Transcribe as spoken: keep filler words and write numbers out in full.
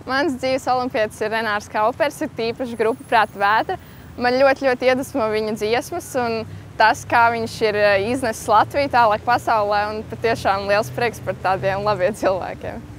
Mans dzīves olimpietis ir Renārs Kaupers, ir tīpaši grupa Prāta vētra. Man ļoti, ļoti iedvesmo viņa dziesmas un tas, kā viņš ir iznesis Latviju tālāk pasaulē, un patiešām liels prieks par tādiem labiem cilvēkiem.